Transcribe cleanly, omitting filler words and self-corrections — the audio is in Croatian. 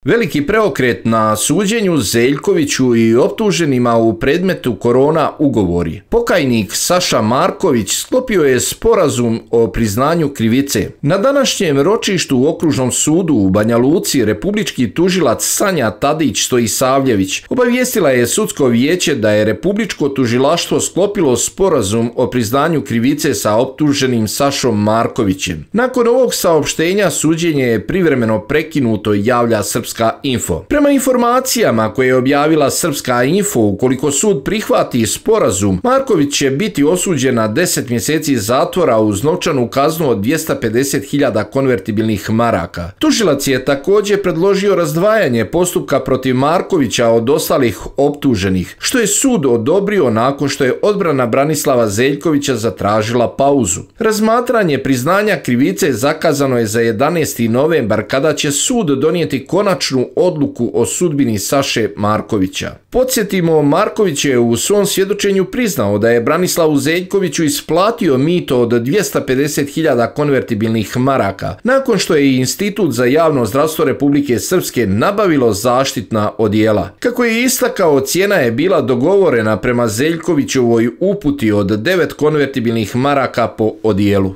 Veliki preokret na suđenju Zeljkoviću i optuženima u predmetu korona ugovori. Pokajnik Saša Marković sklopio je sporazum o priznanju krivice. Na današnjem ročištu u Okružnom sudu u Banja Luci republički tužilac Sanja Tadić Stojisavljević obavijestila je sudsko vijeće da je republičko tužilaštvo sklopilo sporazum o priznanju krivice sa optuženim Sašom Markovićem. Nakon ovog saopštenja suđenje je privremeno prekinuto, javlja Srpska info. Prema informacijama koje je objavila Srpska info, ukoliko sud prihvati sporazum, Marković će biti osuđen na 10 mjeseci zatvora uz novčanu kaznu od 250.000 konvertibilnih maraka. Tužilac je također predložio razdvajanje postupka protiv Markovića od ostalih optuženih, što je sud odobrio nakon što je odbrana Branislava Zeljkovića zatražila pauzu. Razmatranje priznanja krivice zakazano je za 11. novembar kada će sud donijeti konačnu odluku o sudbini Saše Markovića. Podsjetimo, Marković je u svom svjedočenju priznao da je Branislavu Zeljkoviću isplatio mito od 250.000 konvertibilnih maraka, nakon što je Institut za javno zdravstvo Republike Srpske nabavilo zaštitna odijela. Kako je istakao, cijena je bila dogovorena prema Zeljkovićevoj uputi od 9 konvertibilnih maraka po odijelu.